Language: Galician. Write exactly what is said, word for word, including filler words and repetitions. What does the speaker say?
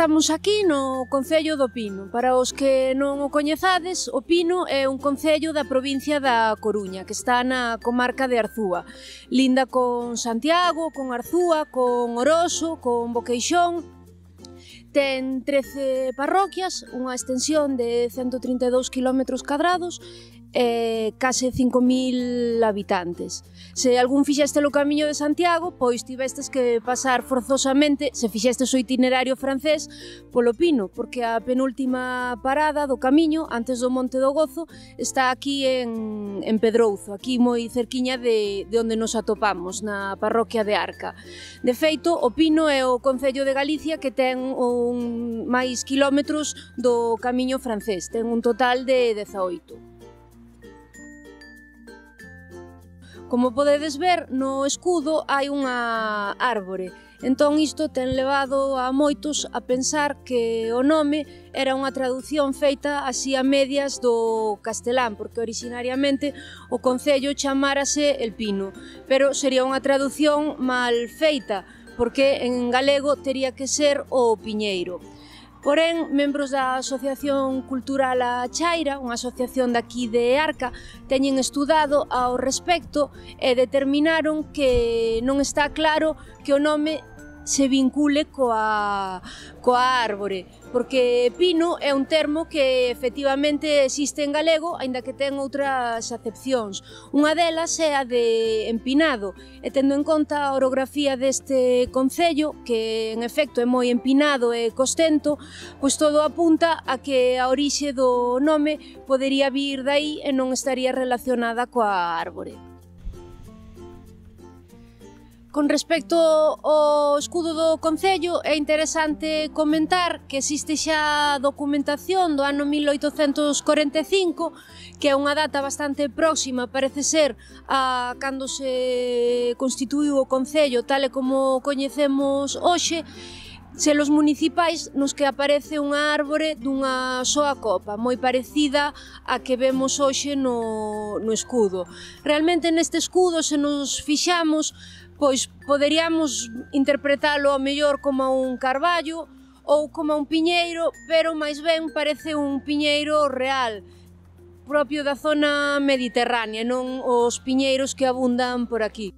Estamos aquí no Concello do Pino. Para os que non o coñezades, o Pino é un concello da provincia da Coruña, que está na comarca de Arzúa. Linda con Santiago, con Arzúa, con Oroso, con Boqueixón. Ten trece parroquias, unha extensión de cento trinta e dous quilómetros cadrados e case cinco mil habitantes. Se algún fixeste o Camiño de Santiago, pois tivestes que pasar forzosamente, se fixestes o itinerario francés, polo Pino, porque a penúltima parada do camiño, antes do Monte do Gozo, está aquí en, en Pedrouzo, aquí moi cerquiña de, de onde nos atopamos, na parroquia de Arca. De feito, o Pino é o concello de Galicia que ten un máis quilómetros do camiño francés, ten un total de dezaoito. Como podedes ver, no escudo hai unha árbore. Entón isto ten levado a moitos a pensar que o nome era unha traducción feita así a medias do castelán, porque originariamente o concello chamárase El Pino, pero sería unha traducción mal feita, porque en galego tería que ser o Piñeiro. Porén, membros da Asociación Cultural A Chaira, unha asociación daqui de Arca, teñen estudado ao respecto e determinaron que non está claro que o nome se vincule coa, coa árbore, porque pino é un termo que efectivamente existe en galego, aínda que ten outras acepcións. Unha delas é a de empinado, e tendo en conta a orografía deste concello, que en efecto é moi empinado e costento, pois todo apunta a que a orixe do nome podería vir daí e non estaría relacionada coa árbore. Con respecto ao escudo do concello, é interesante comentar que existe xa documentación do ano mil oitocentos corenta e cinco, que é unha data bastante próxima, parece ser, a cando se constituíu o concello tal e como o coñecemos hoxe, selos municipais nos que aparece unha árbore dunha soa copa, moi parecida á que vemos hoxe no, no escudo. Realmente neste escudo, se nos fixamos, pois poderíamos interpretalo ao mellor como un carballo ou como un piñeiro, pero máis ben parece un piñeiro real, propio da zona mediterránea, non os piñeiros que abundan por aquí.